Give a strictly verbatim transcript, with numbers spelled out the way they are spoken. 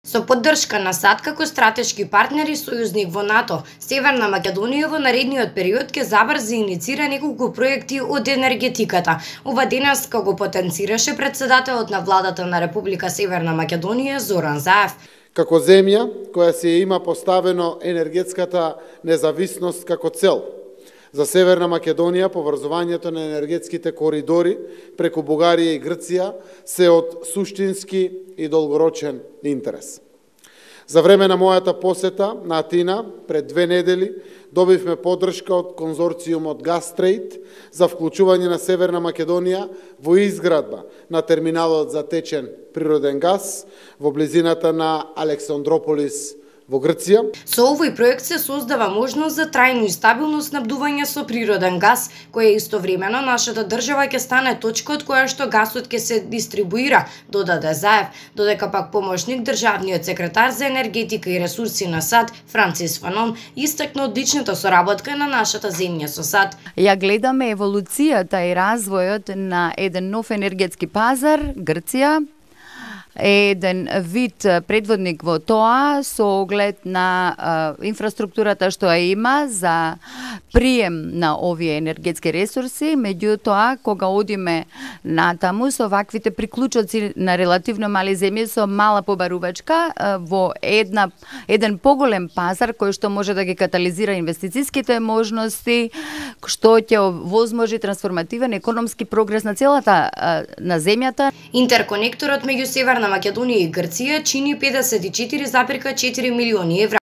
Со поддршка на САД како стратешки партнер и сојузник во НАТО, Северна Македонија во наредниот период ќе забрзи иницира неколку проекти од енергетиката. Ова денес како потенцираше председателот на владата на Република Северна Македонија Зоран Заев. Како земја која си има поставено енергетската независност како цел, за Северна Македонија поврзувањето на енергетските коридори преку Бугарија и Грција се од суштински и долгорочен интерес. За време на мојата посета на Атина пред две недели добивме поддршка од конзорциумот Газтрейд за вклучување на Северна Македонија во изградба на терминалот за течен природен газ во близината на Александрополис во Грција. Со овој проект се создава можност за трајно и стабилно снабдување со природен газ, која истовремено нашата држава ќе стане точка од која што гасот ќе се дистрибуира, додаде Заев, додека пак помошник државниот секретар за енергетика и ресурси на САД Францис Фанон истакна одличната соработка на нашата земја со САД. Ја гледаме еволуцијата и развојот на еден нов енергетски пазар, Грција, еден вид предводник во тоа со оглед на а, инфраструктурата што ја има за прием на овие енергетски ресурси, меѓутоа кога одиме натаму со ваквите приклучоци на релативно мали земји со мала побарувачка а, во една еден поголем пазар кој што може да ги катализира инвестициските можности, што ќе возможи трансформативен економски прогрес на целата а, на земјата. Интерконекторот меѓу Северна Македонија и Грција чини педесет и четири запирка четири милиони евра.